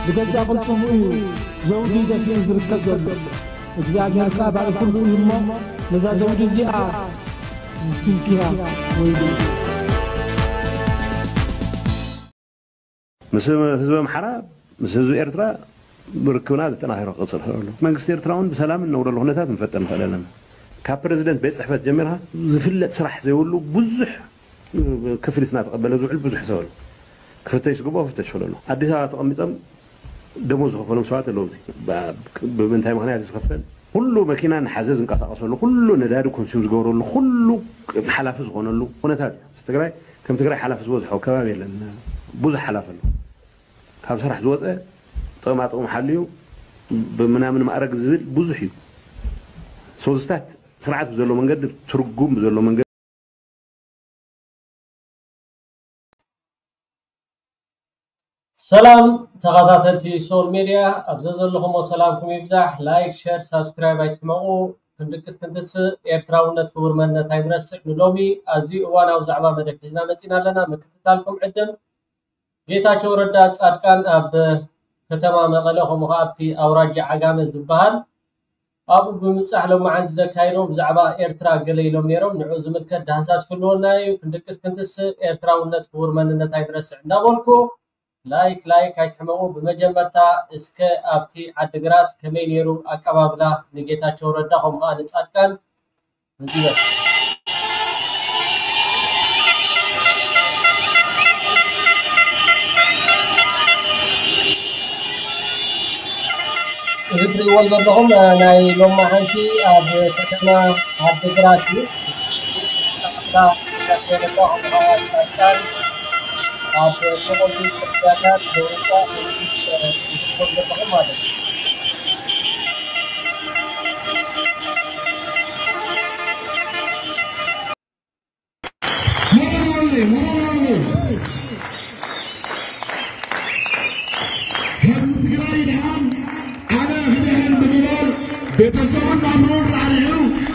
ብገዛእ ቅልጽሙ እዩ ዘውዲ ደፊኡ ዝርከብ ዘሎ። እግዚኣብሔር ከኣ ባዕሉ ኩሉ እዩ እሞ፣ ነዛ ዘውዲ እዚኣ ትንኪያ ወይሉ። ምስ ህዝቢ ኣምሓራ፣ ምስ ህዝቢ ኤርትራ ርክብና ዘጠናኺሩ ክቕጽል ይኽእል ኣሎ። መንግስቲ ኤርትራ እውን ብሰላም እንነብረሉ ኩነታት ንፈጥር ንኽእል ኣለና። ካብ ፕረዚደንት ቤት ጽሕፈት ጀሚርካ ዝፍለጥ ስራሕ ዘይብሉ ብዙሕ ክፍሊት እናተቐበለ ዝውዕል ብዙሕ ሰብ ኣሎ። ክፍተሽ ዝግብኦ ክፍተሽ ይኽእል ኣሎ። ኣዲስ ኣበባ ተቐሚጦም ደሞዝ ዝኸፈሎም ሰባት ኣለዉ። ብ-፣ ብምንታይ ምኽንያት እዩ ዝኸፈል? ኩሉ መኪና እናሓዘ ዝንቀሳቐሰሉ፣ ኩሉ ነዳዲ ኮንሱም ዝገብረሉ፣ ኩሉ ሓላፊ ዝኾነሉ ኩነታት እዩ። ትግራይ ከም ትግራይ ሓላፊ ዝበዝሖ ከባቢ የለን። ብዙሕ ሓላፊ ኣሎ። ካብ ስራሕ ዝወፀ ጥቕማ ጥቕሙ ሓልዩ ብምናምን ማዕረግ ዝብል ብዙሕ እዩ። ሶስታት ስርዓት ብዘሎ መንገዲ፣ ትርጉም ብዘሎ መንገዲ ሰላም ተኸታተልቲ ሶል ሜድያ፣ ኣብ ዘዘለኹሞ ሰላምኩም ይብዛሕ። ላይክ፣ ሸር፣ ሳብስክራይብ ኣይትሕመቑ። ክንድቅስ ክንትስእ፣ ኤርትራውነት ክቡር መንነት ኣይንረስዕ። ንሎሚ ኣዝዩ እዋናዊ ዛዕባ መደብ ሒዝና መጺና ኣለና። ምክትታልኩም ዕድም። ጌታቸው ረዳ ጻድቃን ኣብ ከተማ መቐለ፣ ከምኡ ኸኣ ኣብቲ ኣውራጃ ዓጋመ ዝበሃል ኣብኡ ብምብጻሕ ሎማዓንቲ ዘካይዶ ብዛዕባ ኤርትራ ገለ ኢሎም ነይሮም። ንዑ ዝምልከት ዳህሳስ ክህልወና እዩ። ክንድቅስ ክንትስእ፣ ኤርትራውነት ክቡር መንነት ኣይንረስዕ እንዳበልኩ፣ ላይክ ላይክ ኣይትሕመቑ። ብመጀመርታ እስከ ኣብቲ ዓድግራት ከመይ ነይሩ ኣቀባብላ ንጌታቸው ረዳ ከምኡ ኸኣ ንጻድቃን? እዚ ይመስል። እዚ ትሪእዎ ዘለኹም፣ እ፣ ናይ ሎማዓንቲ ኣብ ከተማ ዓድግራት እዩ። ኣቀባብላ ጌታቸው ረዳ ከምኡ ኸኣ ጻድቃን ኣብ ጥቕሉ ጽርግያታት ብሩጫ ትሪእዎ ዘለኹም ማለት እዩ። ህዝቢ ትግራይ ይድሓን፣ ኣነ ክድሕን ብምባል ቤተሰቡን ናብርኡን ራዕሪዑ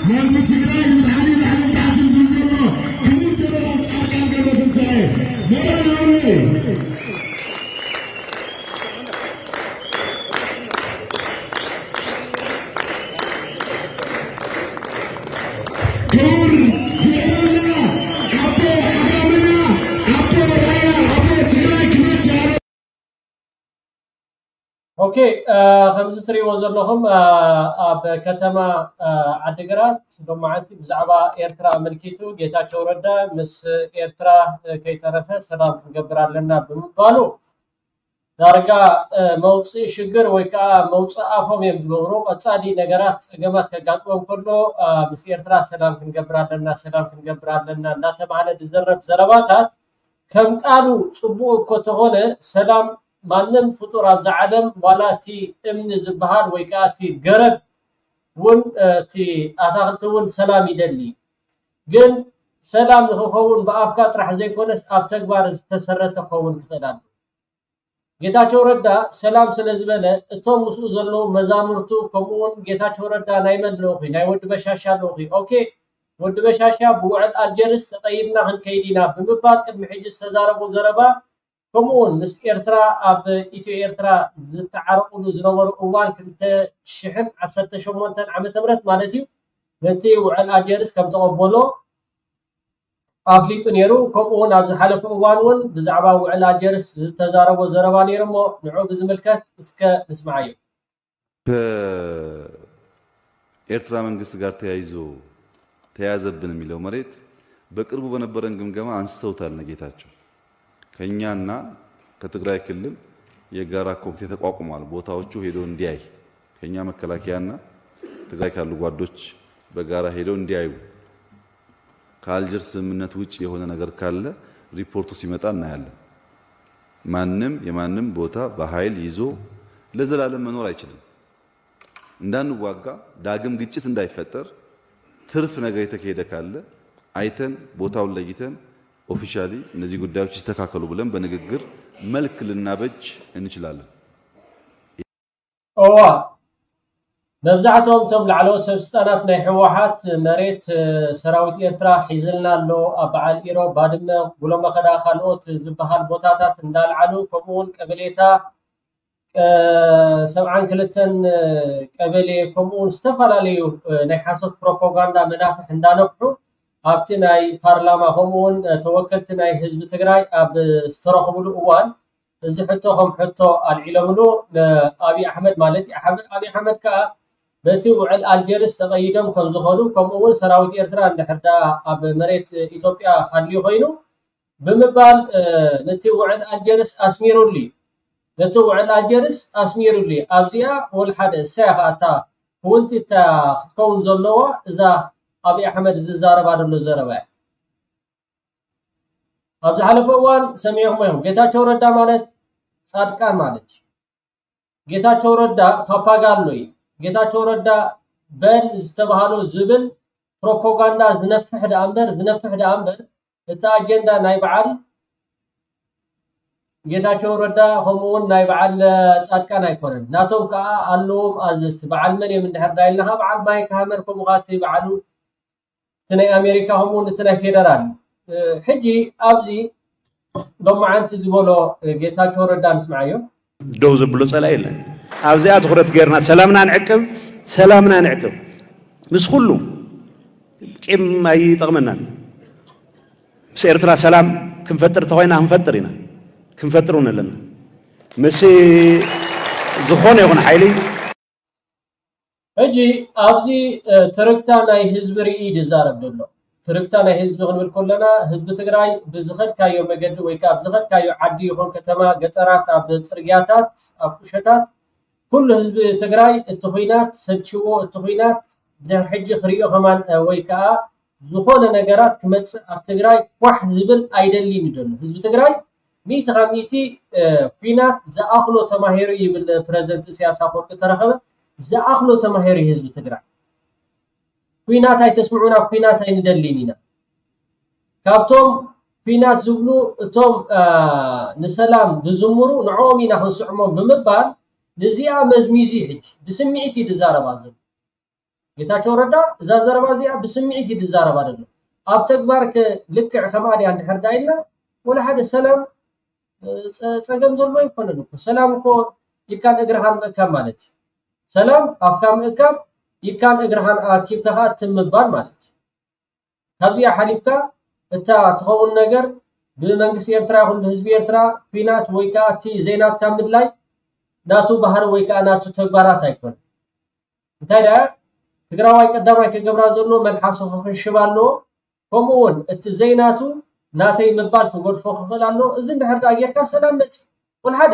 ንህዝቢ ትግራይ ንምድሓን እዩ ላዕልን ታሕትን ዝብል ዘሎ ክቡር ጀነራል ፃድቃን ገብረትንሳኤ። ሞራል ይሃብሉ። ክቡር ጀነራልና፣ ኣቦ ዓጋመና፣ ኣቦ ራያ፣ ኣቦ ትግራይ ክመጽእ ኣሎ። ኦኬ፣ እ፣ ከምዚ ትሪእዎ ዘለኹም፣ እ፣ ኣብ ከተማ፣ እ፣ ዓድግራት ሎማዓንቲ ብዛዕባ ኤርትራ ኣመልኪቱ ጌታቸው ረዳ ምስ ኤርትራ፣ እ፣ ከይተረፈ ሰላም ክንገብር ኣለና ብምባሉ ዳርጋ፣ እ፣ መውፅኢ ሽግር ወይ ከዓ መውፅኢ ኣፎም እዮም ዝገብሩ። ቀፃሊ ነገራት፣ ፀገማት ከጋጥሞም ከሎ፣ እ፣ ምስ ኤርትራ ሰላም ክንገብር ኣለና፣ ሰላም ክንገብር ኣለና እናተባህለ ዝዘረብ ዘረባታት ከም ቃሉ ፅቡቕ እኮ ተኾነ፣ ሰላም ማንም ፍጡር ኣብዛ ዓለም ዋላ እቲ እምኒ ዝበሃል ወይ ከዓ እቲ ገረብ እውን፣ እ፣ እቲ ኣታኽልቲ እውን ሰላም ይደሊ። ግን ሰላም ንክኸውን ብኣፍካ ጥራሕ ዘይኮነስ ኣብ ተግባር ዝተሰረተ ክኸውን ክኽእል ኣሎ። ጌታቸው ረዳ ሰላም ስለ ዝበለ እቶም ምስኡ ዘለዉ መዛምርቱ ከምኡ እውን ጌታቸው ረዳ ናይ መን ልኡኽ እዩ? ናይ ወዲ በሻሻ ልኡኽ እዩ። ኦኬ፣ ወዲ በሻሻ ብውዕል ኣልጀርስ ተቐይድና ክንከይድ ኢና ብምባል ቅድሚ ሕጂ ዝተዛረቦ ዘረባ፣ ከምኡ እውን ምስ ኤርትራ ኣብ ኢትዮ ኤርትራ ዝተዓረቑሉ ዝነበሩ እዋን ክልተ ሽሕን ዓሰርተ ሸሞንተን ዓመተ ምህረት ማለት እዩ፣ ነቲ ውዕል ኣልጀርስ ከም ተቐበሎ ኣፍሊጡ ነይሩ። ከምኡ እውን ኣብ ዝሓለፈ እዋን እውን ብዛዕባ ውዕል ኣልጀርስ ዝተዛረቦ ዘረባ ነይሩ እሞ ንዑ ብዝምልከት እስከ ንስምዓዮ። ከኤርትራ መንግስት ጋር ተያይዞ ተያዘብን የሚለው መሬት በቅርቡ በነበረን ግምገማ አንስተውታል እነ ጌታቸው። ከኛና ከትግራይ ክልል የጋራ ኮሚቴ ተቋቁሟል። ቦታዎቹ ሄዶ እንዲያይ፣ ከኛ መከላከያና ትግራይ ካሉ ጓዶች በጋራ ሄደው እንዲያዩ፣ ከአልጀርስ ስምምነት ውጭ የሆነ ነገር ካለ ሪፖርቱ ሲመጣ እናያለን። ማንም የማንም ቦታ በኃይል ይዞ ለዘላለም መኖር አይችልም። እንዳንዋጋ፣ ዳግም ግጭት እንዳይፈጠር፣ ትርፍ ነገር የተካሄደ ካለ አይተን ቦታውን ለይተን ኦፊሻሊ እነዚህ ጉዳዮች ይስተካከሉ ብለን በንግግር መልክ ልናበጅ እንችላለን። እዋ፣ መብዛሕትኦም እቶም ላዕለዎት ሰብ ስልጣናት ናይ ህወሓት መሬት፣ እ፣ ሰራዊት ኤርትራ ሒዝልና ኣሎ፣ ኣብ በዓል ኢሮብ፣ ባድመ፣ ጉሎመኸዳ ካልኦት ዝበሃል ቦታታት እንዳልዓሉ፣ ከምኡ እውን ቀበሌታ ሰብዓን ክልተን ቀበሌ ከምኡ እውን ዝተፈላለዩ ናይ ሓሶት ፕሮፓጋንዳ መናፍሕ እንዳነፍሑ ኣብቲ ናይ ፓርላማ ከምኡ እውን ተወከልቲ ናይ ህዝቢ ትግራይ ኣብ ዝተረኽብሉ እዋን እዚ ሕቶ ከም ሕቶ ኣልዒሎምሉ ንኣብይ ኣሕመድ ማለት እዩ። ኣሕመድ ኣብይ ኣሕመድ ከዓ በቲ ውዕል ኣልጀርስ ተቐይዶም ከም ዝኾኑ ከምኡ እውን ሰራዊት ኤርትራ እንድሕር ደኣ ኣብ መሬት ኢትዮጵያ ሃልዩ ኮይኑ ብምባል ነቲ ውዕል ኣልጀርስ ኣስሚሩሉ እዩ። ነቲ ውዕል ኣልጀርስ ኣስሚሩሉ እዩ። ኣብዚኣ ወላ ሓደ እሳያ ከኣታ ክውንቲ እታ ክትከውን ዘለዋ እዛ ኣብይ ኣሕመድ ዝዛረባ ዘሎ ዘረባ እያ። ኣብ ዝሓለፈ እዋን ሰሚዕኹም እዮም። ጌታቸው ረዳ ማለት ጻድቃን ማለት እዩ። ጌታቸው ረዳ ፓፓጋሎ እዩ። ጌታቸው ረዳ በል ዝተባህሎ ዝብል ፕሮፓጋንዳ ዝነፍሕ ደኣ እምበር ዝነፍሕ ደኣ እምበር እቲ ኣጀንዳ ናይ በዓል ጌታቸው ረዳ ከምኡ እውን ናይ በዓል ጻድቃን ኣይኮነን። ናቶም ከዓ ኣለዎም ኣዘዝቲ። በዓል መን እዮም እንድሕር ዳ ኢልና ከዓ በዓል ማይክ ሃመር ከምኡ ከዓ እቲ በዓሉ እቲ ናይ ኣሜሪካ ከምኡ እውን እቲ ናይ ፌደራል እዩ። ሕጂ ኣብዚ ሎማዓንቲ ዝበሎ ጌታቸው ረዳ ንስምዓዮ። ደው ዘብሎ ጸላኢ የለን። ኣብዚኣ ትኹረት ጌርና ሰላምና ንዕቅብ፣ ሰላምና ንዕቅብ። ምስ ኩሉ ቂም ኣይጠቕመናን። ምስ ኤርትራ ሰላም ክንፈጥር ተኾይና ክንፈጥር ኢና፣ ክንፈጥር እውን ኣለና። ምስ ዝኾነ ይኹን ሓይሊ ሕጂ ኣብዚ ትርክታ ናይ ህዝቢ ርኢ ድዛረብ ዘሎ። ትርክታ ናይ ህዝቢ ክንብል ከለና ህዝቢ ትግራይ ብዝኸድካዮ መገዲ ወይ ከዓ ብዝኸድካዮ ዓዲ ይኹን ከተማ፣ ገጠራት፣ ኣብ ፅርግያታት፣ ኣብ ቁሸታት ኩሉ ህዝቢ ትግራይ እቲ ኹናት ሰልችዎ፣ እቲ ኹናት ድሕሪ ሕጂ ክሪኦ ከማን ወይ ከዓ ዝኾነ ነገራት ክመፅእ ኣብ ትግራይ ኳሕ ዝብል ኣይደልን እዩ ዘሎ ህዝቢ ትግራይ። ሚእቲ ካብ ሚእቲ ኲናት ዝኣኽሎ ተማሂሩ ይብል ፕረዚደንት ኢሳያስ ኣፈወርቂ ተረኸበ። ዝኣኽሎ ተማሂሩ ህዝቢ ትግራይ። ኲናት ኣይተስምዑና፣ ኲናት ኣይንደልን ኢና። ካብቶም ኲናት ዝብሉ እቶም ንሰላም ዝዝምሩ ንዕኦም ኢና ክንስዕሞም ብምባል ንዚኣ መዝሚዙ ሕጂ ብስምዒት እዩ ዝዛረባ ዘሎ። ጌታቸው ረዳ እዛ ዘረባ እዚኣ ብስምዒት እዩ ዝዛረባ ዘሎ። ኣብ ተግባር ከ ልክዕ ከምኣ ድያ እንድሕር ዳ ኢልና ወላ ሓደ ሰላም ጸገም ዘሎ ኣይኮነን እኮ። ሰላም እኮ ኢድካን እግርኻን ምእካብ ማለት እዩ። ሰላም ኣፍካ ምእካብ ኢድካን እግርኻን ኣኪብካ ከዓ ትም ምባል ማለት እዩ። ካብዚኣ ሓሊፍካ እታ ትኸውን ነገር ብመንግስቲ ኤርትራ ይኹን ብህዝቢ ኤርትራ ኲናት ወይ ከዓ እቲ ዘይናትካ ምድላይ ናቱ ባህሪ ወይ ከዓ ናቱ ተግባራት ኣይኮነን። እንታይ ደኣ ትግራዋይ ቀዳማይ ክገብራ ዘለዎ መልሓሱ ክኽንሽብ ኣለዎ። ከምኡ እውን እቲ ዘይናቱ ናተይ ምባል ክገድፎ ክኽእል ኣለዎ። እዚ እንድሕር ደኣ ጌርካ ሰላም መፂ ወልሓደ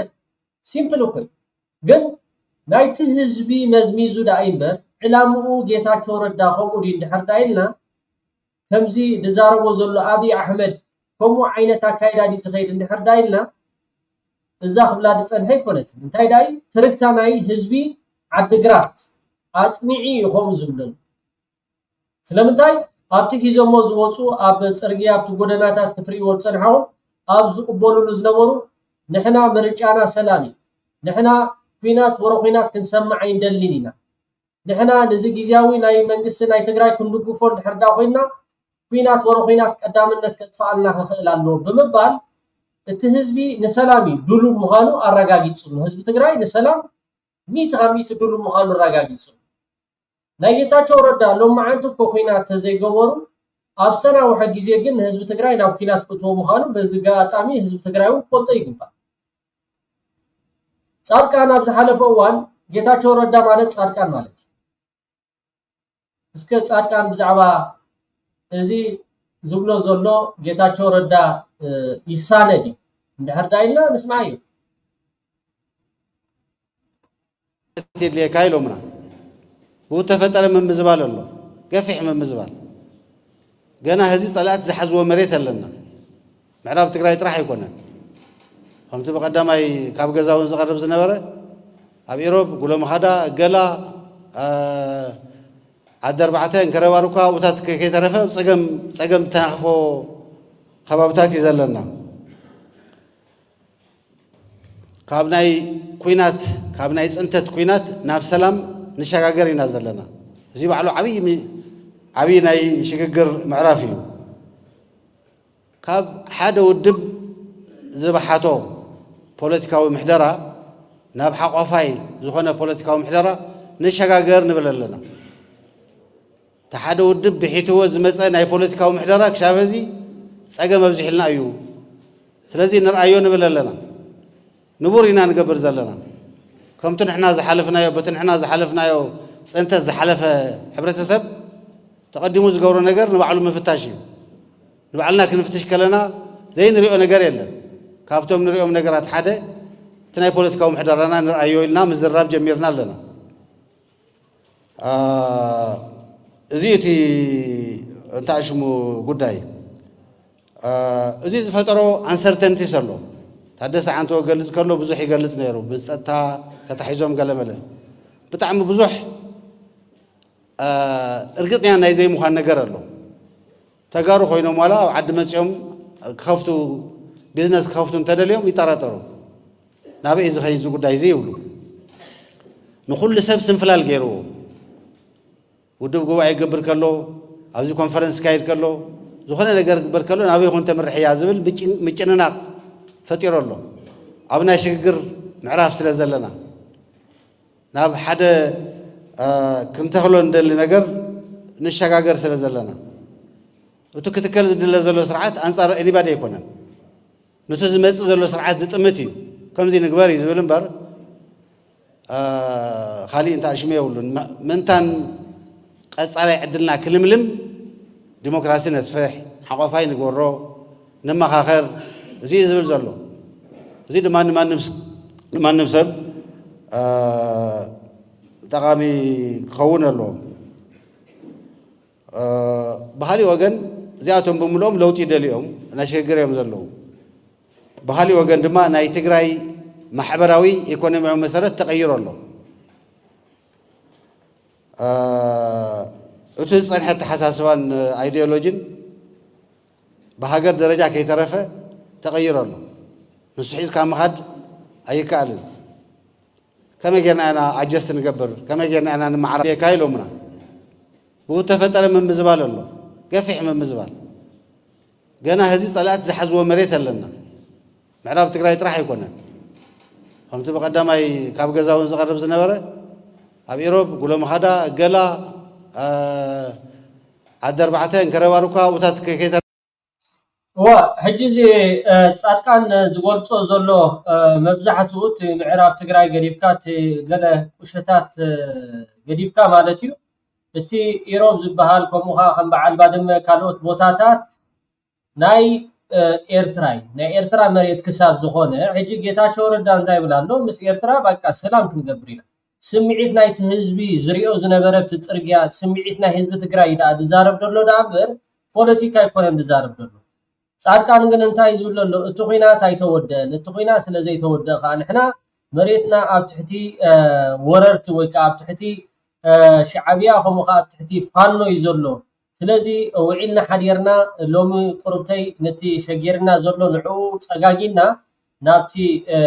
ሲምፕል እኮ እዩ። ግን ናይቲ ህዝቢ መዝሚዙ ደኣ እምበር ዕላምኡ ጌታቸው ረዳ ከምኡ ድዩ እንድሕር ደኣ ኢልና ከምዚ ዝዛረቦ ዘሎ ኣብይ ኣሕመድ ከምኡ ዓይነት ኣካይዳ ድዩ ዝኸይድ እንድሕር ደኣ ኢልና እዛ ክብላ ዝፀንሐ ኣይኮነትን። እንታይ ደኣ እዩ ትርክታ ናይ ህዝቢ ዓድግራት ኣፅኒዒ እዩ ከምኡ ዝብለሉ። ስለምንታይ ኣብቲ ሒዞሞ ዝወፁ ኣብ ፅርግያ ኣብቲ ጎደናታት ክትርእይዎ ዝፀንሐኹም ኣብ ዝቕበሉሉ ዝነበሩ ንሕና ምርጫና ሰላም እዩ፣ ንሕና ኲናት ወረ ኲናት ክንሰምዕ ኣይንደልን ኢና፣ ንሕና ነዚ ግዝያዊ ናይ መንግስቲ ናይ ትግራይ ክንድግፎ እንድሕር ዳ ኮይንና ኲናት ወረ ኲናት ቀዳምነት ከጥፍኣልና ክኽእል ኣለዎ ብምባል እቲ ህዝቢ ንሰላም እዩ ድሉው ምዃኑ ኣረጋጊፁ። ህዝቢ ትግራይ ንሰላም ሚእቲ ካብ ሚእቲ ድሉው ምዃኑ ኣረጋጊፁ። ናይ ጌታቸው ረዳ ሎማዓንቲ እኮ ኲናት ተዘይገበሩ ኣብ ዝተናውሐ ግዜ ግን ንህዝቢ ትግራይ ናብ ኲናት ክእትዎ ምዃኑ በዚ ኣጋጣሚ ህዝቢ ትግራይ እውን ክፈልጦ ይግባእ። ፃድቃን ኣብ ዝሓለፈ እዋን ጌታቸው ረዳ ማለት ፃድቃን ማለት እዩ። እስከ ፃድቃን ብዛዕባ እዚ ዝብሎ ዘሎ ጌታቸው ረዳ ይሳነ ድዩ እንድሕር ዳ ኢልና ንስምዓዮ። የድልየካ ኢሎምና። ብኡ ተፈጠረ ምምዝባል ኣሎ፣ ገፊሕ ምምዝባል። ገና ህዚ ፀላእቲ ዝሓዝዎ መሬት ኣለና። ምዕራብ ትግራይ ጥራሕ ኣይኮነን። ከምቲ ብቐዳማይ ካብ ገዛ እውን ዝቐርብ ዝነበረ ኣብ ኢሮብ፣ ጉሎ መኻዳ፣ ገላ፣ ዓዲ ኣርባዕተ፣ እንከረባር እኳ ኣብኡታት ከይተረፈ ኣብ ፀገም ፀገም ተናኽፎ ከባብታት እዩ ዘለና። ካብ ናይ ኲናት ካብ ናይ ፅንተት ኲናት ናብ ሰላም ንሸጋገር ኢና ዘለና። እዚ ባዕሉ ዓብዪ ዓብዪ ናይ ሽግግር ምዕራፍ እዩ። ካብ ሓደ ውድብ ዝበሓቶ ፖለቲካዊ ምሕደራ ናብ ሓቋፋይ ዝኾነ ፖለቲካዊ ምሕደራ ንሸጋገር ንብል ኣለና። እቲ ሓደ ውድብ ብሒትዎ ዝመፀ ናይ ፖለቲካዊ ምሕደራ ክሻብ ሕዚ ፀገም ኣብዚሕልና እዩ። ስለዚ ንርኣዮ ንብል ኣለና። ንቡር ኢና ንገብር ዘለና። ከምቲ ንሕና ዝሓለፍናዮ፣ በቲ ንሕና ዝሓለፍናዮ ፅንተት ዝሓለፈ ሕብረተሰብ ተቐዲሙ ዝገብሮ ነገር ንባዕሉ ምፍታሽ እዩ። ንባዕልና ክንፍትሽ ከለና ዘይንሪኦ ነገር የለን። ካብቶም ንሪኦም ነገራት ሓደ እቲ ናይ ፖለቲካዊ ምሕደራና ንርኣዮ ኢልና ምዝራብ ጀሚርና ኣለና። አ፣ እዚ እቲ እንታይ ሽሙ ጉዳይ፣ አ፣ እዚ ዝፈጠሮ ኣንሰርተንቲስ ኣሎ። ታደሰ ዓንቶ ገልጽ ከሎ ብዙሕ ይገልጽ ነይሩ። ብጸጥታ ተታሒዞም ገለመለ። ብጣዕሚ ብዙሕ፣ አ፣ እርግጽኛ ናይ ዘይምዃን ነገር ኣሎ። ተጋሩ ኮይኖም ዋላ ኣብ ዓዲ መጺኦም ክኸፍቱ፣ ቢዝነስ ክኸፍቱ እንተደልዮም ይጠራጠሩ። ናበይ ዝኸይድ እዚ ጉዳይ እዚ ይብሉ። ንኹሉ ሰብ ስንፍላል ገይርዎ። ውድብ ጉባኤ ይገብር ከሎ፣ ኣብዚ ኮንፈረንስ ይካየድ ከሎ፣ ዝኾነ ነገር ክግበር ከሎ ናበይ ይኹን ተምርሕ እያ ዝብል ምጭን-፣ ምጭንናቕ ፈጢሩ ኣሎ። ኣብ ናይ ሽግግር ምዕራፍ ስለ ዘለና፣ ናብ ሓደ፣ አ፣ ክንተኽሎ እንደሊ ነገር ንሸጋገር ስለ ዘለና፣ እቲ ክትከል ዝድለ ዘሎ ስርዓት ኣንጻር ኤኒባዲ ኣይኮነን። ነቲ ዝመጽእ ዘሎ ስርዓት ዝጥምት እዩ። ከምዚ ንግበር እዩ ዝብል እምበር፣ አ፣ ካሊእ እንታይ ሽሙ የብሉን። ም-፣ ምእንታን ቀጻላይ ዕድልና ክልምልም ዲሞክራሲ ነስፍሕ፣ ሓቆፋይ ንግበሮ፣ ንመኻኸር፣ እዚ እዩ ዝብል ዘሎ። እዚ ድማ ንማንም ስ-፣ ንማንም ሰብ፣ አ፣ ጠቓሚ ክኸውን ኣለዎ። አ፣ ብኻሊእ ወገን እዚኣቶም ብምልኦም ለውጢ ደልዮም ናይ ሽግግር እዮም ዘለዉ። ብኻሊእ ወገን ድማ ናይ ትግራይ ማሕበራዊ ኢኮኖሚያዊ መሰረት ተቐይሩ ኣሎ። አ፣ እቲ ዝጸንሐ ኣተሓሳስባን ኣይዲዮሎጂን ብሃገር ደረጃ ከይተረፈ ተቐይሩ ኣሎ። ንሱ ሒዝካ ምኻድ ኣይከኣልን። ከመይ ጌርና ኢና ኣጀስት ንገብር፣ ከመይ ጌርና ኢና ንመዓራየካ ኢሎምና። ብኡ ተፈጠረ ምምዝባል ኣሎ፣ ገፊሕ ምምዝባል። ገና ህዚ ጸላእቲ ዝሓዝዎ መሬት ኣለና። ምዕራብ ትግራይ ጥራሕ ኣይኮነን። ከምቲ ብቐዳማይ ካብ ገዛ እውን ዝቐርብ ዝነበረ፣ ኣብ ኢሮብ፣ ጉሎ መኻዳ፣ ገላ፣ አ፣ ዓዲ ኣርባዕተ፣ እንከረባሩካ፣ ኣብኡታት ከ-፣ ከይተ-፣ እወ፣ ሕጂ እዚ፣ እ፣ ጻድቃን ዝገልጾ ዘሎ፣ እ፣ መብዛሕትኡ እቲ ምዕራብ ትግራይ ገዲፍካ፣ እቲ ገለ ቁሸታት፣ እ፣ ገዲፍካ ማለት እዩ። እቲ ኢሮብ ዝበሃል፣ ከምኡ ኸዓ ከም በዓል ባድመ ካልኦት ቦታታት ናይ፣ እ፣ ኤርትራ እዩ። ናይ ኤርትራ መሬት ክሳብ ዝኾነ፣ ሕጂ ጌታቸው ረዳ እንታይ ይብል ኣሎ? ምስ ኤርትራ በቃ ሰላም ክንገብር ኢና። ስምዒት ናይቲ ህዝቢ ዝሪኦ ዝነበረ፣ እቲ ጽርግያ፣ ስምዒት ናይ ህዝቢ ትግራይ እዩ ደኣ ዝዛረብ ዘሎ ደኣ እምበር፣ ፖለቲካ ኣይኮነን ዝዛረብ ዘሎ። ጻድቃን ግን እንታይ ዝብል ዘሎ? እቲ ኹናት ኣይተወደአን። እቲ ኹናት ስለ ዘይተወደአ ከኣ ንሕና መሬትና ኣብ ትሕቲ፣ እ፣ ወረርቲ ወይ ከኣ ኣብ ትሕቲ፣ እ፣ ሻዕብያ፣ ከምኡ ከኣ ኣብ ትሕቲ ፋኖ እዩ ዘሎ። ስለዚ ውዒልና ሓዲርና፣ ሎሚ ቁርብተይ ነቲ ሸጊርና ዘሎ ንዕኡ ጸጋጊና ናብቲ፣ እ፣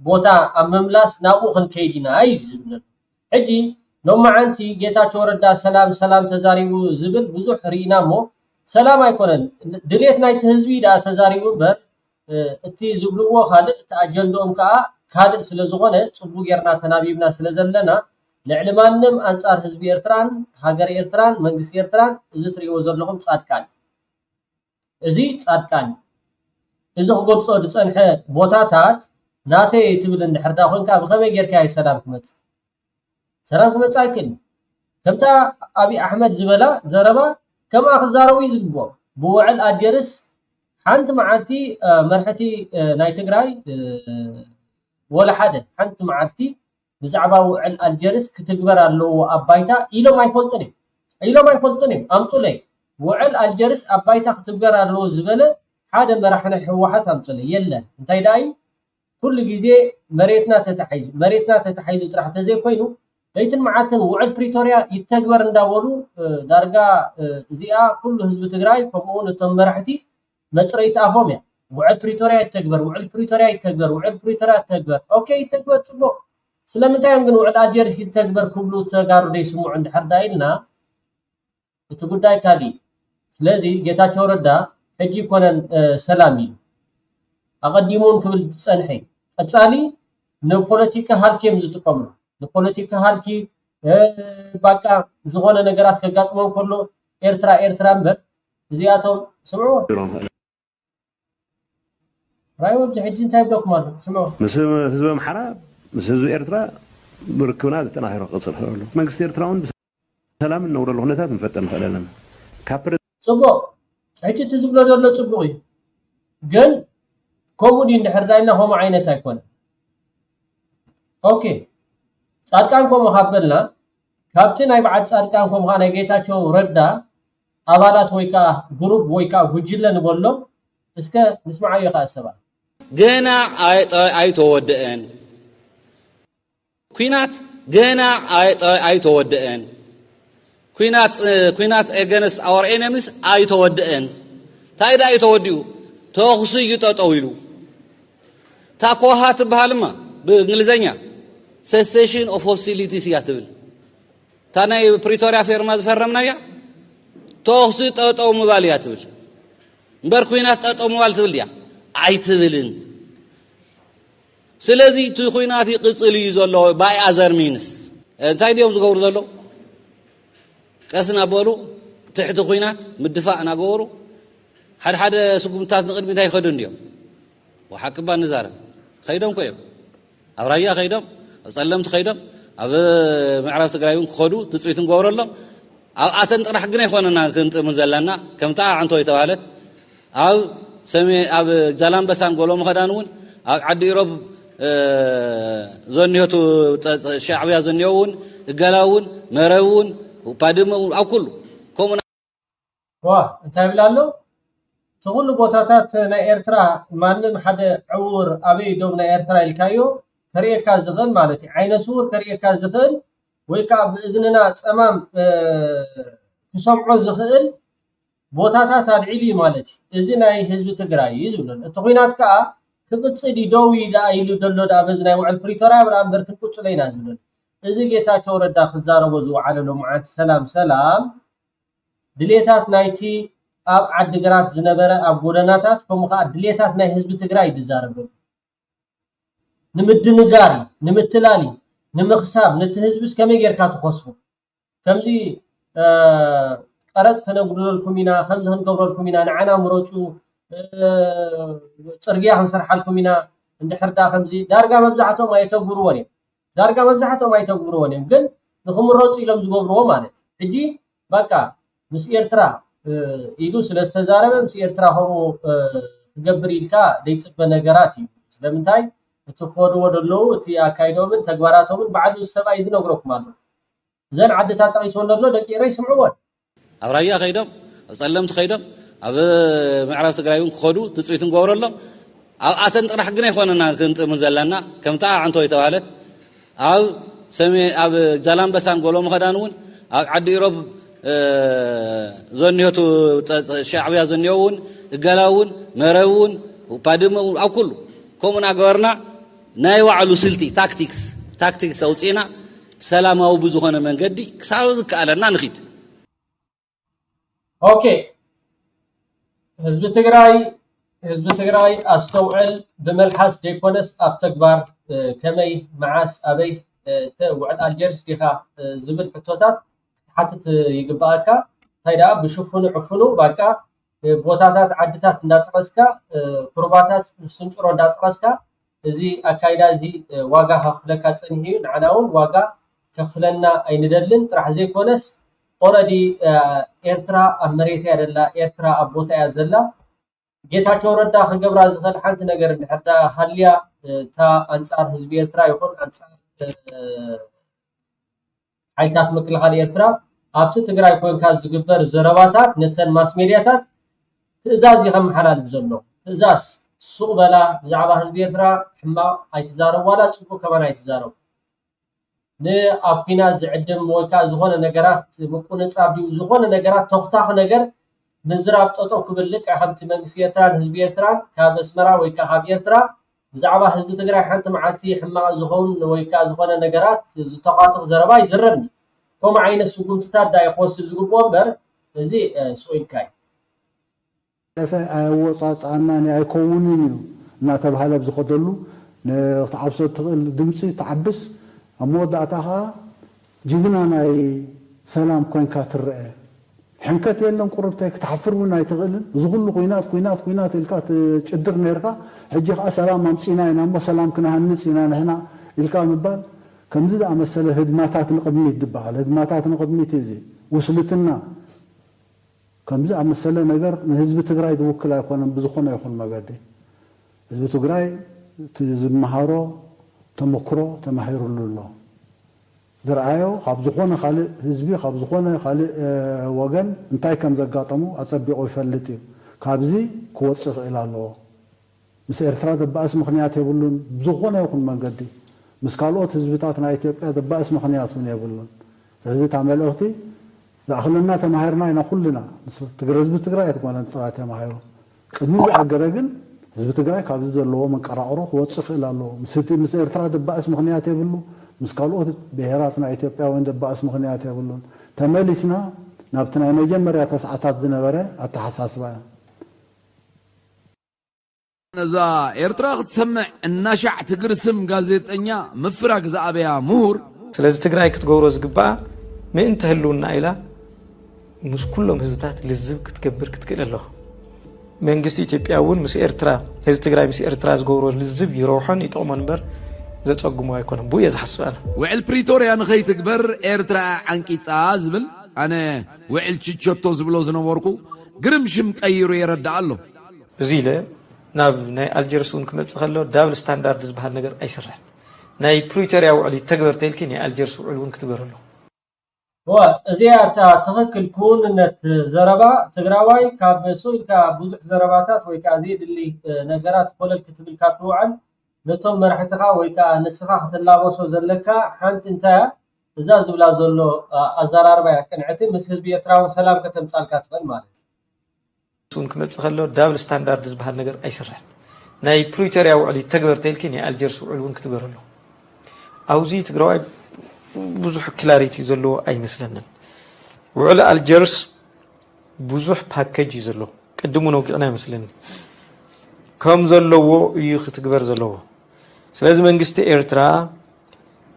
ቦታ ኣብ ምምላስ ናብኡ ክንከይድ ኢና እዩ ዝብል ዘሎ። ሕጂ ሎማዓንቲ ጌታቸው ረዳ ሰላም ሰላም ተዛሪቡ ዝብል ብዙሕ ርኢና እሞ፣ ሰላም ኣይኮነን። ድሌት ናይቲ ህዝቢ ደኣ ተዛሪቡ እምበር፣ እ፣ እቲ ዝብልዎ ካልእ፣ እቲ ኣጀንድኦም ከኣ ካልእ ስለ ዝኾነ፣ ጽቡቕ ጌርና ተናቢብና ስለ ዘለና፣ ልዕሊ ማንም ኣንጻር ህዝቢ ኤርትራን ሃገር ኤርትራን መንግስቲ ኤርትራን እዚ ትርእይዎ ዘለኹም ጻድቃን እዩ። እዚ ጻድቃን እዩ። እዚ ክገልጾ ዝጸንሐ ቦታታት ናተይ ትብል እንድሕር ደኣ ኮንካ፣ ብኸመይ ጌርካ እዩ ሰላም ክመጽእ? ሰላም ክመጽእ ኣይክእልን። ከምታ ኣብይ ኣሕመድ ዝበላ ዘረባ ከምኣ ክዛረቡ እዩ ዝግብኦም። ብውዕል ኣልጀርስ ሓንቲ መዓልቲ፣ እ፣ መርሕቲ፣ እ፣ ናይ ትግራይ፣ እ፣ ወላ ሓደ ሓንቲ መዓልቲ ብዛዕባ ውዕል ኣልጀርስ ክትግበር ኣለዎ ኣብ ባይታ ኢሎም ኣይፈልጡን እዮም። ኢሎም ኣይፈልጡን እዮም። ኣምጹለይ። ውዕል ኣልጀርስ ኣብ ባይታ ክትግበር ኣለዎ ዝበለ ሓደ መራሒ ናይ ህወሓት ኣምጹለይ። የለን። እንታይ ደኣ እዩ? ኩሉ ግዜ መሬትና ተታሒዙ፣ መሬትና ተታሒዙ ጥራሕ ተዘይኮይኑ፣ ለይትን መዓልትን ውዕል ፕሪቶርያ ይተግበር እንዳበሉ፣ እ፣ ዳርጋ፣ እ፣ እዚኣ ኩሉ ህዝቢ ትግራይ፣ ከምኡ እውን እቶም መራሕቲ መጽረይቲ ኣፎም እያ። ውዕል ፕሪቶርያ ይተግበር፣ ውዕል ፕሪቶርያ ይተግበር፣ ውዕል ፕሪቶርያ ይተግበር። ኦኬ፣ ይተግበር፣ ጽቡቕ። ስለምንታይ እዮም ግን ውዕል ኣልጀርስ ይተግበር ክብሉ ተጋሩ ዘይስምዑ እንድሕር ዳ ኢልና፣ እቲ ጉዳይ ካልእ እዩ። ስለዚ ጌታቸው ረዳ ሕጂ ይኮነን፣ እ፣ ሰላም እዩ። ኣቐዲሙ እውን ክብል ዝጸንሐ እዩ። ቀጻሊ ንፖለቲካ ሃልኪ እዮም ዝጥቀምሉ። ንፖለቲካ ሃልኪ፣ እ፣ በቃ ዝኾነ ነገራት ከጋጥሞም ከሎ ኤርትራ፣ ኤርትራ እምበር እዚኣቶም ስምዕዎ። ራይ ኣብዚ ሕጂ እንታይ ይብለኩም ኣሎ? ስምዑ። ምስ ህዝቢ ኣምሓራ፣ ምስ ህዝቢ ኤርትራ ርክብና ተጠናኺሩ ክቕጽል ይኽእል ኣሎ። መንግስቲ ኤርትራ እውን ብሰላም እንነብረሉ ኩነታት ክንፈጥር ንኽእል ኣለና። ካብ ፕረ- ጽቡቕ። ሕጂ እቲ ዝብሎ ዘሎ ጽቡቕ እዩ። ግን ከምኡ ድዩ እንድሕር ዳይና ከምኡ ዓይነት ኣይኮነን። ኦኬ። ጻድቃን ከምኡ ካብ በልና፣ ካብቲ ናይ በዓል ጻድቃን ከምኡ ከኣ ናይ ጌታቸው ረዳ ኣባላት ወይ ከኣ ግሩፕ ወይ ከኣ ጉጅለ ንበሎ፣ እስከ ንስምዓዮ ከኣ ሰባት። ገና ኣይ-፣ ኣይተወደአን። ኲናት ገና ኣይ-፣ ኣይተወደአን። ኲናት፣ እ፣ ኲናት against our enemies ኣይተወደአን። እንታይ ደኣ እዩ ተወዲኡ? ተኹሲ እዩ ጠጠው ኢሉ። ታኮሃ ትበሃልማ ብእንግሊዘኛ cessation of hostilities እያ ትብል። እታ ናይ ፕሪቶርያ ፌርማ ዝፈረምናያ ተኹሲ ጠጠው ምባል እያ ትብል። እምበር ኲናት ጠጠው ምባል ትብል ድያ? ኣይትብልን። ስለዚ እቲ ኲናት ይቕጽል እዩ ዘሎ by other means። እንታይ ድዮም ዝገብሩ ዘለዉ? ቀስ እናበሉ ትሕቲ ኲናት ምድፋእ እናገበሩ ሓደ ሓደ ስጉምታት ንቕድሚት ኣይኸዱን ድዮም? ወሓቂ እባ ንዛረብ። ከይዶም እኮ እዮም። ኣብ ራያ ከይዶም፣ ኣብ ጸለምቲ ከይዶም፣ ኣብ ምዕራብ ትግራይ እውን ክኸዱ ትጽቢት ንገብረሎም። ኣብኣተን ጥራሕ ግን ኣይኮነና ክንጥምን ዘለና። ከምታ ኣዕንቶ የተባህለት ኣብ ሰሜ-፣ ኣብ ዛላምበሳን ጎሎ መኸዳን እውን፣ ኣብ ዓዲ ኢሮብ፣ እ፣ ዘኒሆቱ ጸ-፣ ጸ-፣ ሻዕብያ ዘኒሆ እውን፣ እገላ እውን፣ መረብ እውን፣ ባድመ እውን፣ ኣብ ኩሉ ከምኡ ዋ፣ እንታይ ይብል ኣሎ? እቲ ኩሉ ቦታታት ናይ ኤርትራ ማንም ሓደ ዕውር ኣበይ ዶብ ናይ ኤርትራ ኢልካዮ ከርእየካ ዝኽእል ማለት እዩ። ዓይነ ስውር ከርእየካ ዝኽእል ወይ ከዓ ብእዝንና ጸማም፣ እ፣ ክሰምዖ ዝኽእል ቦታታት ኣልዒሉ እዩ ማለት እዩ። እዚ ናይ ህዝቢ ትግራይ እዩ ዝብለሉ። እቲ ኹናት ከዓ ክቕጽል እዩ፣ ደው እዩ ደኣ ኢሉ ደሎ ደኣ በዚ ናይ ውዕል ፕሪቶርያ ብርኣ እምበር ክንቅጽሎ ኢና ዝብለሉ። እዚ ጌታቸው ረዳ ክዛረቦ ዝወዓለ ሎምዓንቲ ሰላም ሰላም ድሌታት ናይቲ ኣብ ዓዲግራት ዝነበረ ኣብ ጎደናታት ከምኡ ከዓ ድሌታት ናይ ህዝቢ ትግራይ እዩ ዝዛረብ ዘሎ። ንምድንጋር እዩ፣ ንምትላል እዩ፣ ንምኽሳብ ነቲ ህዝብስ ከመይ ጌርካ ትኸስቦ? ከምዚ፣ እ፣ ቀረጥ ከነጉድለልኩም ኢና፣ ከምዚ ክንገብረልኩም ኢና፣ ንዓና ምረጹ፣ እ፣ ጽርግያ ክንሰርሓልኩም ኢና፣ እንድሕር ደኣ ከምዚ ዳርጋ መብዛሕትኦም ኣየተግብርዎን እዮም። ዳርጋ መብዛሕትኦም ኣይተግብርዎን እዮም፣ ግን ንኽምረጹ ኢሎም ዝገብርዎ ማለት እዩ። ሕጂ በቃ ምስ ኤርትራ፣ እ፣ ኢሉ ስለ ዝተዛረበ ምስ ኤርትራ ከምኡ፣ እ፣ ክገብር ኢልካ ዘይጽበ ነገራት እዩ። ስለምንታይ እቲ ክኸድዎ ዘለዉ እቲ ኣካይዶምን ተግባራቶምን ባዕሉ ሰብኣይ ዝነግረኩም ኣሎ። እዘን ዓድታት ጠቒስወን ዘሎ ደቂ ኤረይ ስምዕዎን። ኣብ ራያ ከይዶም፣ ኣብ ጸለምቲ ከይዶም፣ ኣብ ምዕራብ ትግራይ እውን ክኸዱ ትጽቢት ንገብረሎም። ኣብኣተን ጥራሕ ግን ኣይኮነና ክንጥምን ዘለና። ከምታ ኣዕንቶ የተባህለት ኣብ ሰሜ-፣ ኣብ ዛላምበሳን ጎሎ መኸዳን እውን፣ ኣብ ዓዲ ኢሮብ፣ እ፣ ዘኒሆቱ ጸ-፣ ጸ-፣ ሻዕብያ ዘኒሆ እውን፣ እገላ እውን፣ መረብ እውን፣ ባድመ እውን፣ ኣብ ኩሉ ከምኡ እናገበርና ናይ ባዕሉ ስልቲ፣ ታክቲክስ፣ ታክቲክስ ኣውፂእና ሰላማዊ ብዝኾነ መንገዲ ክሳብ ዝከኣለና ንኺድ። ኦኬ፣ ህዝቢ ትግራይ፣ ህዝቢ ትግራይ ኣስተውዕል፣ ብመልሓስ ዘይኮነስ ኣብ ተግባር፣ እ፣ ከመይ፣ መዓስ፣ ኣበይ፣ እ፣ እተ ውዕል ኣልጀርስ ዲኻ፣ እ፣ ዝብል ሕቶታት ክትሓትት ይግባኣካ። እንታይ ደኣ ብሽፉኑ ዕፉኑ ባቃ፣ እ፣ ቦታታት ዓድታት እንዳጠቐስካ፣ እ፣ ኩርባታት ስንጭሮ እንዳጠቐስካ፣ እዚ ኣካይዳ እዚ፣ እ፣ ዋጋ ከኽፍለካ ጸኒሑ እዩ። ንዓና እውን ዋጋ ከኽፍለና ኣይንደልን። ጥራሕ ዘይኮነስ ኦረዲ፣ እ፣ ኤርትራ ኣብ መሬት እያ ዘላ፣ ኤርትራ ኣብ ቦታ እያ ዘላ። ጌታቸው ረዳ ክገብራ ዝኽእል ሓንቲ ነገር እንድሕር ደኣ ሃልያ፣ እ፣ እታ ኣንጻር ህዝቢ ኤርትራ ይኹን ኣንጻር፣ እ፣ ሓይልታት ምክልኻል ኤርትራ ኣብቲ ትግራይ ኮንካ ዝግበር ዘረባታት ነተን ማስ ሜድያታት ትእዛዝ እዩ ከመሓላልፍ ዘሎ። ትእዛዝ፣ ሱቕ በላ፣ ብዛዕባ ህዝቢ ኤርትራ ሕማቕ ኣይትዛረቡ፣ ዋላ ጽቡቕ ከማን ኣይትዛረቡ። ንኣብ ኲናት ዝዕድም ወይ ከዓ ዝኾነ ነገራት ምቁንጻብ ድዩ፣ ዝኾነ ነገራት ተኹታኹ ነገር ምዝራብ ጠጠው ክብል፣ ልክዕ ከምቲ መንግስቲ ኤርትራን ህዝቢ ኤርትራን ካብ ኣስመራ ወይ ከዓ ካብ ኤርትራ ብዛዕባ ህዝቢ ትግራይ ሓንቲ መዓልቲ ሕማቕ ዝኸውን ወይ ከዓ ዝኾነ ነገራት ዝተኻትኽ ዘረባ ይዝረብኒ። ከምኡ ዓይነት ስጉምትታት ዳኣ ክወስድ ዝግብኦ እምበር፣ እዚ፣ እ፣ ስቕ ኢልካ እዩ። ለፈ ኣየወጻጽኣናን ኣይከውንን እዩ እናተባህለ ኣብ ዝኸደሉ፣ ንክትዓብሶ እትኽእል ድምፂ ትዓብስ፣ ኣብ መወዳእታ ከዓ ጅግና ናይ ሰላም ኮይንካ ትረአ። ሕንከት የለን ቁርብተይ፣ ክትሓፍር እውን ኣይትኽእልን። እዚ ኩሉ ኩናት ኩናት ኩናት ኢልካ ትጭድር ነርካ፣ ሕጂ ከዓ ሰላም ኣምፂና ኢና እሞ ሰላም ክንሃንፅ ኢና ንሕና ኢልካ ምባል ከምዚ ዝኣመሰለ ህድማታት ንቕድሚት ዝበሃል ህድማታት ንቕድሚት እዩ። እዚ ውስልትና ከምዚ ኣመሰለ ነገር ንህዝቢ ትግራይ ዝውክል ኣይኮነን። ብዝኾነ ይኹን መገዲ ህዝቢ ትግራይ እቲ ዝመሃሮ ተመክሮ ተማሂሩሉ ኣሎ። ዝረኣዮ ካብ ዝኾነ ካልእ ህዝቢ ካብ ዝኾነ ካልእ ወገን እንታይ ከም ዘጋጠሙ ኣጸቢቑ ይፈልጥ እዩ። ካብዚ ክወፅእ ይኽእል ኣለዎ። ምስ ኤርትራ ዘባእስ ምኽንያት የብሉን። ብዝኾነ ይኹን መንገዲ ምስ ካልኦት ህዝብታት ናይ ኢትዮጵያ ዘባእስ ምኽንያት እውን የብሉን። ስለዚ እታ መልእኽቲ ዝኣኽለና ተማሂርና ኢና ኩልና። ምስ ትግረ ህዝቢ ትግራይ ኣይትኮነን ጥራይ ተማሂሩ። ቅድሚ ዝኣገረ ግን ህዝቢ ትግራይ ካብዚ ዘለዎ መንቀራቕሮ ክወፅእ ይኽእል ኣለዎ። ምስ እቲ ምስ ኤርትራ ዘባእስ ምኽንያት የብሉ። ምስ ካልኦት ብሄራት ናይ ኢትዮጵያውያን ዘባእስ ምኽንያት የብሉን። ተመሊስና ናብቲ ናይ መጀመርያ ተስዓታት ዝነበረ ኣተሓሳስባ እዩ። ነዛ ኤርትራ ክትሰምዕ እናሻዕ ትግርስም ጋዜጠኛ ምፍራግ ዝኣበያ ምሁር። ስለዚ ትግራይ ክትገብሮ ዝግባኣ ምእንቲ ህልውና ኢላ ምስ ኩሎም ህዝብታት ልዝብ ክትገብር ክትክእል ኣለዋ። መንግስቲ ኢትዮጵያ እውን ምስ ኤርትራ ህዝቢ ትግራይ ምስ ኤርትራ ዝገብሮ ልዝብ ይረብሖን ይጠቕሞን እምበር ዘፀግሞ ኣይኮነን። ብኡ እየ ዝሓስብ ኣነ። ውዕል ፕሪቶርያ ንኸይትግበር ኤርትራ ዓንቂፃ ዝብል ኣነ ውዕል ችቸቶ ዝብሎ ዝነበርኩ ግርም ሽም ቀይሩ የረድእ ኣሎ። እዚ ኢለ ናብ ናይ ኣልጀርስ እውን ክመፅእ ከሎ ዳብል ስታንዳርድ ዝበሃል ነገር ኣይስራሕን። ናይ ፕሪቶርያ ውዕል ይተግበር ተይልኪ ናይ ኣልጀርስ ውዕል እውን ክትግበር ኣለዎ። እወ እዚኣ እታ ትኽክል ክውንነት ዘረባ ትግራዋይ ካብ ስቕ ኢልካ ብዙሕ ዘረባታት ወይ ከዓ ዘየድሊ ነገራት ኮለል ክትብል ካብ ትውዕል ነቶም መራሕትኻ ወይ ከዓ ንስኻ ክትላበሶ ዘለካ ሓንቲ እንታይ እያ እዛ ዝብላ ዘሎ ኣዘራርባ እያ ቅንዕቲ ምስ ህዝቢ ኤርትራ እውን ሰላም ከተምፃልካ ትኽእል ማለት እዩ። እሱን ክመፅእ ከሎ ዳብል ስታንዳርድ ዝበሃል ነገር ኣይስራሕን። ናይ ፕሪቶርያ ውዕል ይተግበር ተይልኪ ናይ ኣልጀርስ ውዕል እውን ክትግበር ኣለዎ። ኣብዚ ትግራዋይ ብዙሕ ክላሪቲ ዘለዎ ኣይመስለንን። ውዕል ኣልጀርስ ብዙሕ ፓኬጅ እዩ ዘለዎ። ቅድም እውን ኣውጊዕና ይመስለኒ። ከም ዘለዎ እዩ ክትግበር ዘለዎ። ስለዚ መንግስቲ ኤርትራ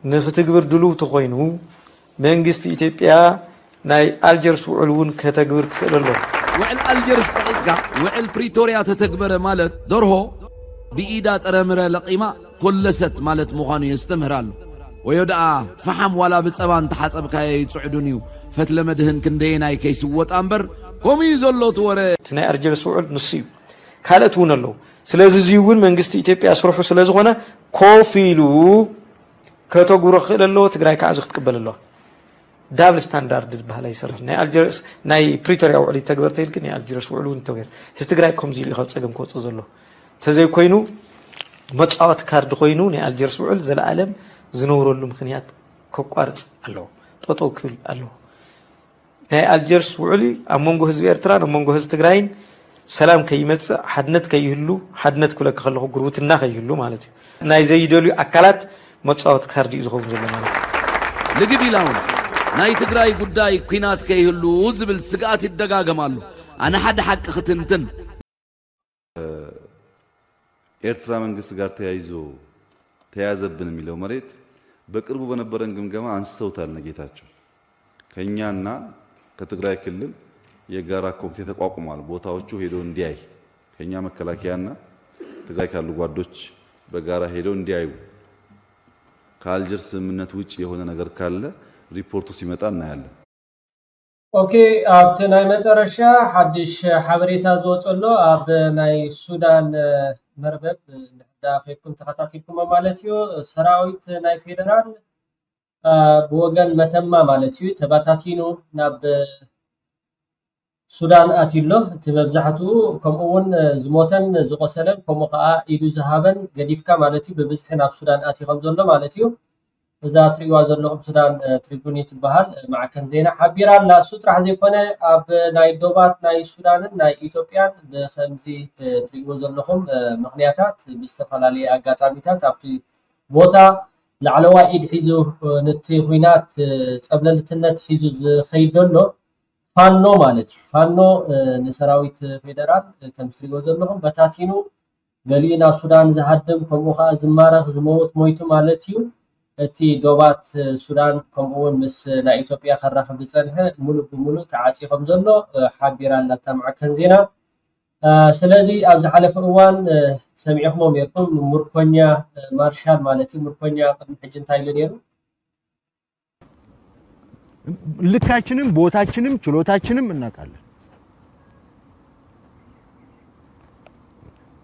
ንክትግብር ድሉው ተኾይኑ መንግስቲ ኢትዮጵያ ናይ ኣልጀርስ ውዕል እውን ከተግብር ክኽእል ኣለዎ። ውዕል ኣልጀርስ ጸቒጥካ ውዕል ፕሪቶርያ ተተግበረ ማለት ደርሆ ብኢዳ ጥረምረ ለቒማ ኮለሰት ማለት ምዃኑ የስተምህር ኣሎ። ወዮ ደኣ ፈሓም ዋላ ብጸባ እንተሓጸብካዮ ኣይጽዕዱን እዩ። ፈትለ መድህን ክንደየናይ ከይስወጣ እምበር ከምኡ እዩ ዘሎ እቲ ወረ። እቲ ናይ ኣልጀርስ ውዕል ንሱ እዩ። ካልኦት እውን ኣለዉ። ስለዚ እዚ እውን መንግስቲ ኢትዮጵያ ስርሑ ስለ ዝኾነ ኮፍ ኢሉ ከተግብሮ ክኽእል ኣለዎ። ትግራይ ከዓ እዚ ክትቅበል ኣለዋ። ዳብል ስታንዳርድ ዝበሃል ኣይሰርሕን። ናይ ኣልጀርስ ናይ ፕሪቶርያ ውዕል ይተግበር ተይልኪ ናይ ኣልጀርስ ውዕል እውን ይተግበር። ህዝቢ ትግራይ ከምዚ ኢሉ እዩ ካብ ፀገም ክወፅእ ዘለዎ። እንተዘይኮይኑ መፃወቲ ካርድ ኮይኑ ናይ ኣልጀርስ ውዕል ዘለኣለም ዝነብረሉ ምኽንያት ከቋርፅ ኣለዎ። ጠጠው ክብል ኣለዎ። ናይ ኣልጀርስ ውዕል ኣብ መንጎ ህዝቢ ኤርትራን ኣብ መንጎ ህዝቢ ትግራይን ሰላም ከይመፅእ፣ ሓድነት ከይህሉ፣ ሓድነት ክብለካ ከለኹ ጉርብትና ከይህሉ ማለት እዩ። ናይ ዘይደልዩ ኣካላት መፃወቲ ካርዲ እዩ ዝኸውን ዘሎ ማለት እዩ። ልግድ ኢላ እውን ናይ ትግራይ ጉዳይ ኲናት ከይህሉ ዝብል ስግኣት ይደጋገም ኣሎ። ኣነ ሓደ ሓቂ ክትንትን። ኤርትራ መንግስት ጋር ተያይዞ ተያዘብን የሚለው መሬት በቅርቡ በነበረን ግምገማ አንስተውታል እነ ጌታቸው። ከኛና ከትግራይ ክልል የጋራ ኮሚቴ ተቋቁሟል። ቦታዎቹ ሄዶ እንዲያይ ከኛ መከላከያና ትግራይ ካሉ ጓዶች በጋራ ሄደው እንዲያዩ ከአልጀርስ ስምምነት ውጭ የሆነ ነገር ካለ ሪፖርቱ ሲመጣ እናያለን። ኦኬ ኣብቲ ናይ መጠረሻ ሓድሽ ሓበሬታ ዝወፀሎ ኣብ ናይ ሱዳን መርበብ እንዳ ከይድኩም ተኸታቲልኩሞ ማለት እዩ ሰራዊት ናይ ፌደራል ብወገን መተማ ማለት እዩ ተባታቲኑ ናብ ሱዳን ኣትዩ ኣሎ እቲ መብዛሕትኡ ከምኡ እውን ዝሞተን ዝቆሰለን ከምኡ ከዓ ኢዱ ዝሃበን ገዲፍካ ማለት እዩ ብብዝሒ ናብ ሱዳን ኣትዩ ከም ዘሎ ማለት እዩ እዛ ትሪእዋ ዘለኹም ሱዳን ትሪቡን ትበሃል ማዕከን ዜና ሓቢራ ኣላ። እሱ ጥራሕ ዘይኮነ ኣብ ናይ ዶባት ናይ ሱዳንን ናይ ኢትዮጵያን ብከምዚ ትሪእዎ ዘለኹም ምኽንያታት ብዝተፈላለየ ኣጋጣሚታት ኣብቲ ቦታ ላዕለዋይ ኢድ ሒዙ ነቲ ኹናት ፀብለልትነት ሒዙ ዝኸይድ ዘሎ ፋኖ ማለት እዩ። ፋኖ ንሰራዊት ፌደራል ከምዚ ትሪእዎ ዘለኹም በታቲኑ ገሊኡ ናብ ሱዳን ዝሃድም፣ ከምኡ ከዓ ዝማረኽ፣ ዝመውት፣ ሞይቱ ማለት እዩ። እቲ ዶባት ሱዳን ከምኡ እውን ምስ ናይ ኢትዮጵያ ከራኽብ ዝፀንሐ ሙሉእ ብሙሉእ ተዓፅዩ ከም ዘሎ ሓቢራ ኣላ እታ ማዕከን ዜና። ስለዚ ኣብ ዝሓለፈ እዋን ሰሚዕኹሞ ነርኩም፣ ምርኮኛ ማርሻል ማለት እዩ። ምርኮኛ ቅድሚ ሕጂ እንታይ ኢሉ ነይሩ? ልካችንም ቦታችንም ችሎታችንም እናውቃለን።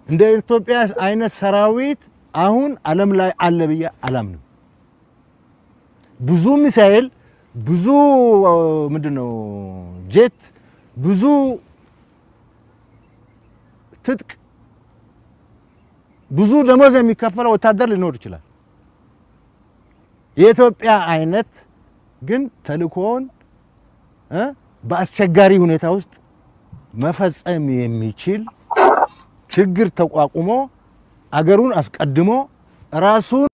እንደ ኢትዮጵያ አይነት ሰራዊት አሁን ዓለም ላይ አለ ብዬ አላምንም። ብዙ ሚሳኤል፣ ብዙ ምንድነው ጄት፣ ብዙ ትጥቅ፣ ብዙ ደሞዝ የሚከፈለው ወታደር ሊኖር ይችላል። የኢትዮጵያ አይነት ግን ተልእኮውን እ በአስቸጋሪ ሁኔታ ውስጥ መፈጸም የሚችል ችግር ተቋቁሞ አገሩን አስቀድሞ ራሱን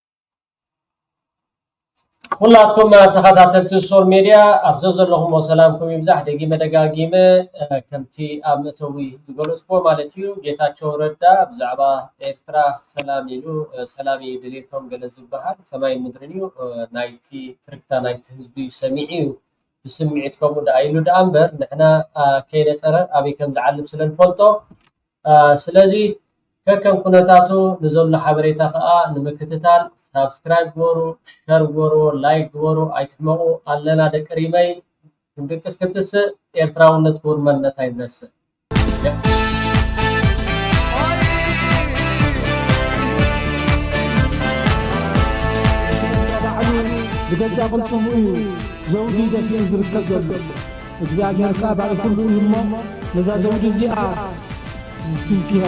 ኩላትኩም ተኸታተልቲ ሶል ሜድያ ኣብ ዘዘለኹሞ ሰላምኩም ይብዛሕ። ደጊመ ደጋጊመ ከምቲ ኣብ መእተዊ ዝገለጽኩዎ ማለት እዩ፣ ጌታቸው ረዳ ብዛዕባ ኤርትራ ሰላም ኢሉ፣ ሰላም እዩ ድሌቶም ገለ ዝበሃል፣ ሰማይን ምድርን እዩ፣ ናይቲ ትርክታ ናይቲ ህዝቢ ሰሚዑ እዩ። ብስምዒት ከምኡ ደኣ ኢሉ ደኣ እምበር ንሕና ከይነጠረ ኣበይ ከም ዝዓልብ ስለ ንፈልጦ ስለዚ ከከም ኩነታቱ ንዘሎ ሓበሬታ ከኣ ንምክትታል ሳብስክራይብ ግበሩ፣ ሸር ግበሩ፣ ላይክ ግበሩ፣ ኣይትሕመቑ። ኣለና ደቂ ሪመይ፣ ክንድቅስ ክትስእ ኤርትራውነት ክቡር መንነት ኣይንረስዕ። ብገዛ ቅልጽሙ እዩ ዘውዲ ደፊኡ ዝርከብ ዘሎ። እግዚኣብሔር ከኣ ባዕሉ ኩሉ እዩ እሞ ነዛ ዘውዲ እዚኣ ዝትንክያ